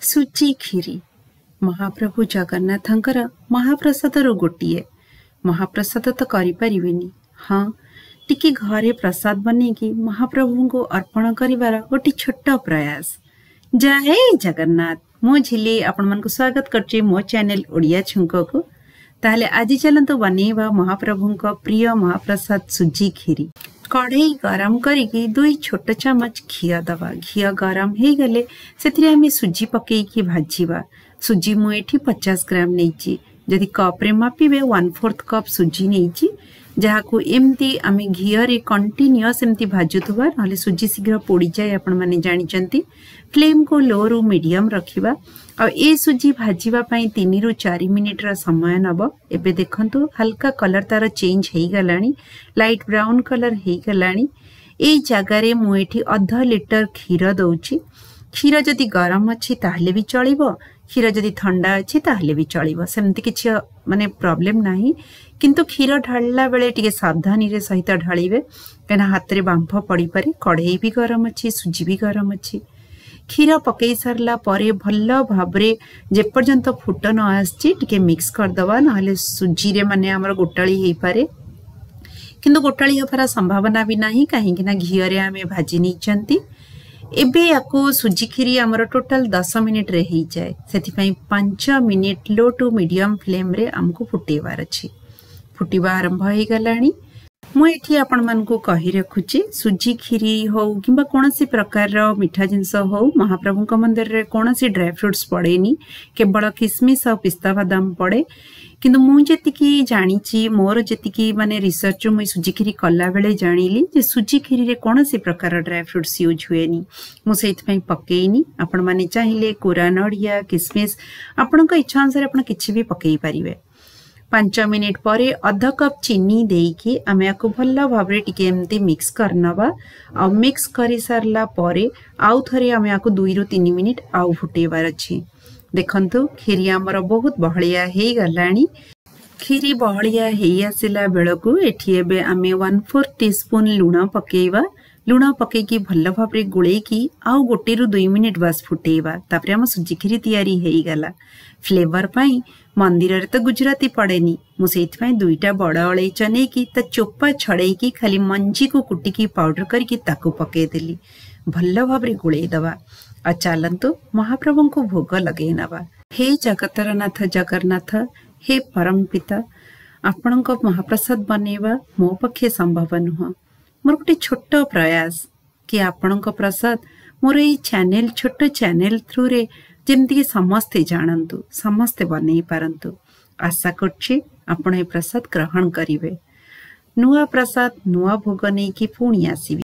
ସୁଜି କ୍ଷୀରି ମହାପ୍ରଭୁ ଜଗନ୍ନାଥଙ୍କର ମହାପ୍ରସାଦରୁ ଗୋଟିଏ। ମହାପ୍ରସାଦ ତ କରିପାରିବେନି, ହଁ ଟିକେ ଘରେ ପ୍ରସାଦ ବନେଇକି ମହାପ୍ରଭୁଙ୍କୁ ଅର୍ପଣ କରିବାର ଗୋଟେ ଛୋଟ ପ୍ରୟାସ। ଜୟ ଜଗନ୍ନାଥ। ମୁଁ ଝିଲି ଆପଣମାନଙ୍କୁ ସ୍ୱାଗତ କରୁଛି ମୋ ଚ୍ୟାନେଲ ଓଡ଼ିଆ ଛୁଙ୍କକୁ। ତାହେଲେ ଆଜି ଚାଲନ୍ତୁ ବନେଇବା ମହାପ୍ରଭୁଙ୍କ ପ୍ରିୟ ମହାପ୍ରସାଦ ସୁଜି କ୍ଷୀରି। କଢ଼େଇ ଗରମ କରିକି 2 ଛୋଟ ଚାମଚ ଘିଅ ଦେବା। ଘିଅ ଗରମ ହେଇଗଲେ ସେଥିରେ ଆମେ ସୁଜି ପକେଇକି ଭାଜିବା। ସୁଜି ମୁଁ ଏଠି 50 ଗ୍ରାମ ନେଇଛି। ଯଦି କପ୍ରେ ମାପିବେ 1/4 କପ୍ ସୁଜି ନେଇଛି, ଯାହାକୁ ଏମିତି ଆମେ ଘିଅରେ କଣ୍ଟିନ୍ୟୁଅସ୍ ଏମିତି ଭାଜୁଥିବା, ନହେଲେ ସୁଜି ଶୀଘ୍ର ପୋଡ଼ିଯାଏ, ଆପଣମାନେ ଜାଣିଛନ୍ତି। ଫ୍ଲେମ୍କୁ ଲୋରୁ ମିଡ଼ିୟମ୍ ରଖିବା ଆଉ ଏ ସୁଜି ଭାଜିବା ପାଇଁ 3ରୁ 4 ମିନିଟ୍ର ସମୟ ନେବ। ଏବେ ଦେଖନ୍ତୁ ହାଲକା କଲର୍ ତାର ଚେଞ୍ଜ ହେଇଗଲାଣି, ଲାଇଟ୍ ବ୍ରାଉନ୍ କଲର୍ ହେଇଗଲାଣି। ଏଇ ଜାଗାରେ ମୁଁ ଏଠି ଅଧ ଲିଟର କ୍ଷୀର ଦେଉଛି। କ୍ଷୀର ଯଦି ଗରମ ଅଛି ତାହେଲେ ବି ଚଳିବ, କ୍ଷୀର ଯଦି ଥଣ୍ଡା ଅଛି ତାହେଲେ ବି ଚଳିବ, ସେମିତି କିଛି ମାନେ ପ୍ରୋବ୍ଲେମ୍ ନାହିଁ। କିନ୍ତୁ କ୍ଷୀର ଢାଳିଲା ବେଳେ ଟିକେ ସାବଧାନୀରେ ସହିତ ଢାଳିବେ, କାହିଁକିନା ହାତରେ ବାମ୍ଫ ପଡ଼ିପାରେ। କଢ଼େଇ ବି ଗରମ ଅଛି, ସୁଜି ବି ଗରମ ଅଛି। କ୍ଷୀର ପକେଇ ସାରିଲା ପରେ ଭଲ ଭାବରେ ଯେପର୍ଯ୍ୟନ୍ତ ଫୁଟ ନ ଆସିଛି ଟିକେ ମିକ୍ସ କରିଦେବା, ନହେଲେ ସୁଜିରେ ମାନେ ଆମର ଗୋଟାଳି ହେଇପାରେ। କିନ୍ତୁ ଗୋଟାଳି ହେବାର ସମ୍ଭାବନା ବି ନାହିଁ, କାହିଁକିନା ଘିଅରେ ଆମେ ଭାଜି ନେଇଛନ୍ତି। ଏବେ ୟାକୁ ସୁଜି କ୍ଷୀରି ଆମର ଟୋଟାଲ 10 ମିନିଟ୍ରେ ହେଇଯାଏ, ସେଥିପାଇଁ 5 ମିନିଟ୍ ଲୋ ଟୁ ମିଡ଼ିୟମ୍ ଫ୍ଲେମ୍ରେ ଆମକୁ ଫୁଟେଇବାର ଅଛି। ଫୁଟିବା ଆରମ୍ଭ ହେଇଗଲାଣି। ମୁଁ ଏଠି ଆପଣମାନଙ୍କୁ କହି ରଖୁଛି, ସୁଜି କ୍ଷୀରି ହଉ କିମ୍ବା କୌଣସି ପ୍ରକାରର ମିଠା ଜିନିଷ ହଉ, ମହାପ୍ରଭୁଙ୍କ ମନ୍ଦିରରେ କୌଣସି ଡ୍ରାଏ ଫ୍ରୁଟ୍ସ ପଡ଼େନି, କେବଳ କିସମିସ୍ ଆଉ ପିସ୍ତା ବାଦାମ ପଡ଼େ। କିନ୍ତୁ ମୁଁ ଯେତିକି ଜାଣିଛି, ମୋର ଯେତିକି ମାନେ ରିସର୍ଚ୍ଚ ମୁଁ ସୁଜି କ୍ଷୀରି କଲାବେଳେ ଜାଣିଲି ଯେ ସୁଜି କ୍ଷୀରିରେ କୌଣସି ପ୍ରକାର ଡ୍ରାଏ ଫ୍ରୁଟ୍ସ ୟୁଜ୍ ହୁଏନି, ମୁଁ ସେଇଥିପାଇଁ ପକେଇନି। ଆପଣମାନେ ଚାହିଁଲେ କୋରା ନଡ଼ିଆ, କିସମିସ୍, ଆପଣଙ୍କ ଇଚ୍ଛା ଅନୁସାରେ ଆପଣ କିଛି ବି ପକେଇ ପାରିବେ। 5 ମିନିଟ୍ ପରେ ଅଧ କପ୍ ଚିନି ଦେଇକି ଆମେ ୟାକୁ ଭଲ ଭାବରେ ଟିକେ ଏମିତି ମିକ୍ସ କରିନେବା। ଆଉ ମିକ୍ସ କରିସାରିଲା ପରେ ଆଉ ଥରେ ଆମେ ୟାକୁ 2ରୁ 3 ମିନିଟ୍ ଆଉ ଫୁଟେଇବାର ଅଛି। ଦେଖନ୍ତୁ କ୍ଷୀରି ଆମର ବହୁତ ବହଳିଆ ହେଇଗଲାଣି। କ୍ଷୀରି ବହଳିଆ ହେଇ ଆସିଲା ବେଳକୁ ଏଠି ଏବେ ଆମେ 1/4 ଟିସ୍ପୁନ୍ ଲୁଣ ପକେଇବା। ଲୁଣ ପକେଇକି ଭଲ ଭାବରେ ଗୋଳେଇକି ଆଉ 1ରୁ 2 ମିନିଟ୍ ବାସ୍ ଫୁଟେଇବା। ତାପରେ ଆମ ସୁଜି କ୍ଷୀରି ତିଆରି ହେଇଗଲା। ଫ୍ଲେଭର ପାଇଁ ମନ୍ଦିରରେ ତ ଗୁଜୁରାତି ପଡ଼େନି, ମୁଁ ସେଇଥିପାଇଁ 2ଟା ବଡ଼ ଅଳେଇଚ ନେଇକି ତା ଚୋପା ଛଡ଼େଇକି ଖାଲି ମଞ୍ଜିକୁ କୁଟିକି ପାଉଡର କରିକି ତାକୁ ପକେଇଦେଲି। ଭଲ ଭାବରେ ଗୋଳେଇ ଦେବା ଆଉ ଚାଲନ୍ତୁ ମହାପ୍ରଭୁଙ୍କୁ ଭୋଗ ଲଗେଇ ନେବା। ହେ ଜଗତର ନାଥ ଜଗନ୍ନାଥ, ହେ ପରମ ପିତା, ଆପଣଙ୍କ ମହାପ୍ରସାଦ ବନେଇବା ମୋ ପକ୍ଷେ ସମ୍ଭବ ନୁହଁ। ମୋର ଗୋଟେ ଛୋଟ ପ୍ରୟାସ କି ଆପଣଙ୍କ ପ୍ରସାଦ ମୋର ଏଇ ଚ୍ୟାନେଲ, ଛୋଟ ଚ୍ୟାନେଲ ଥ୍ରୁରେ ଯେମିତିକି ସମସ୍ତେ ଜାଣନ୍ତୁ, ସମସ୍ତେ ବନେଇ ପାରନ୍ତୁ। ଆଶା କରୁଛି ଆପଣ ଏ ପ୍ରସାଦ ଗ୍ରହଣ କରିବେ। ନୂଆ ପ୍ରସାଦ ନୂଆ ଭୋଗ ନେଇକି ପୁଣି ଆସିବି।